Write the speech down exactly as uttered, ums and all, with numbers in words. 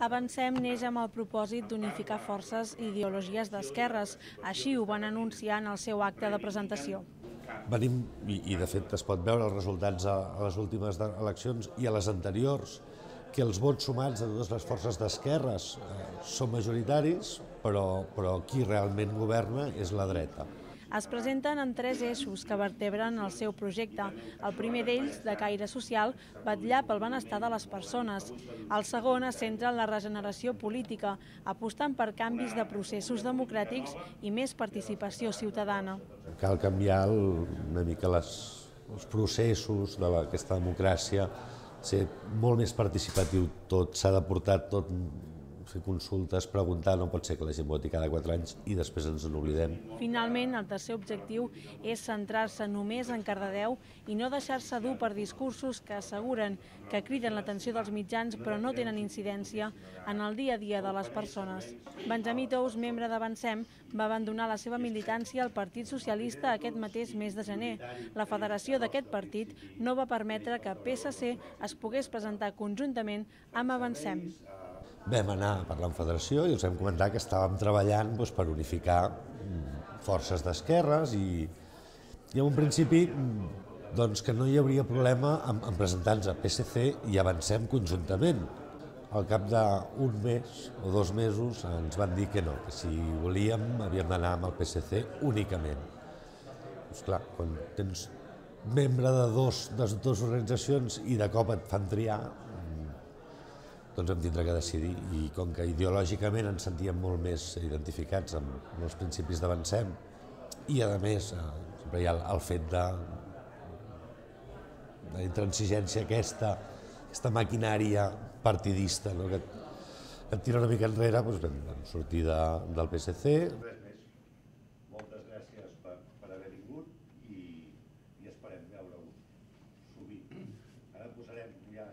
Avancem neix amb el propòsit d'unificar forces i ideologies d'esquerres. Així ho van anunciar en el seu acte de presentació. Venim, i, i de fet es pot veure els resultats a, a les últimes eleccions i a les anteriors, que els vots sumats de totes les forces d'esquerres eh, són majoritaris, però, però qui realment governa és la dreta. Es presenten en tres eixos que vertebren el seu projecte. El primer d'ells, de caire social, vetllar pel benestar de les persones. El segon es centra en la regeneració política, apostant per canvis de processos democràtics i més participació ciutadana. Cal canviar el, una mica les, els processos d'aquesta democràcia, ser molt més participatiu tot, s'ha de portar tot, fer consultes, preguntar, no pot ser que la gent voti cada quatre anys i després ens n'oblidem. Finalment, el tercer objectiu és centrar-se només en Cardedeu i no deixar-se dur per discursos que asseguren que criden l'atenció dels mitjans però no tenen incidència en el dia a dia de les persones. Benjamí Tous, membre d'Avancem, va abandonar la seva militància al Partit Socialista aquest mateix mes de gener. La federació d'aquest partit no va permetre que P S C es pogués presentar conjuntament amb Avancem. Vam anar a parlar amb Federació i els vam comentar que estàvem treballant doncs, per unificar forces d'esquerres i, i en un principi doncs, que no hi hauria problema en, en presentar-nos a P S C i Avancem conjuntament. Al cap d'un mes o dos mesos ens van dir que no, que si volíem havíem d'anar amb el P S C únicament. Doncs clar, quan tens membre de dos, de dues organitzacions i de cop et fan triar, doncs hem tindrà que decidir, i com que ideològicament ens sentíem molt més identificats amb els principis d'Avancem i a més sempre hi ha el fet de la intransigència aquesta, aquesta maquinària partidista, no? que et tira una mica enrere, doncs vam sortir de, del P S C. Moltes gràcies per, per haver vingut i, i esperem veure-ho sovint. Ara posarem ja